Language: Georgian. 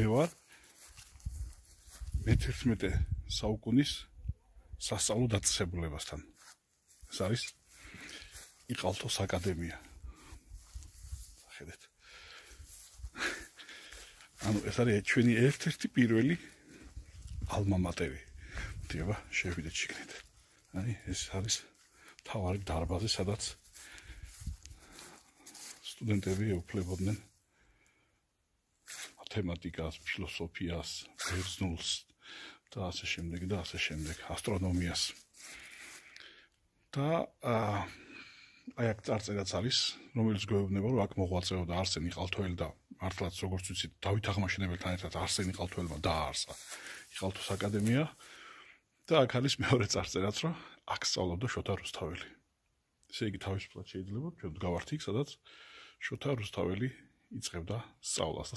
ვარ მე-11 საუკუნის სასწავლო დაწესებულებასთან. ეს არის იყალთოს აკადემია. ხედეთ. ანუ ეს არის ჩვენი ერთ-ერთი პირველი ალმა მატერი. დიახ, შევიდეთ შიგნით. აი, ეს არის თავარი დარბაზი, სადაც სტუდენტები ეუფლებოდნენ მათემატიკას, ფილოსოფიას, ბერძნულს და ასე შემდეგ და ასე შემდეგ, ასტრონომიას. და აი აქ წარწერაც არის, რომელიც გვეუბნება, რომ აქ მოღვაწეობდა არსენ იყალთოელი და მართლაც როგორც ვიცით, დავით აღმაშენებელთან ერთად არსენ იყალთოელმა დააარსა იყალთოს აკადემია და აქ არის მეორე წარწერაც, რომ აქ სწავლობდა შოთა რუსთაველი. ესე იგი თავისუფლად შეიძლება ჩვენ გავართ იქ, სადაც შოთა რუსთაველი იწყებდა სწავლას.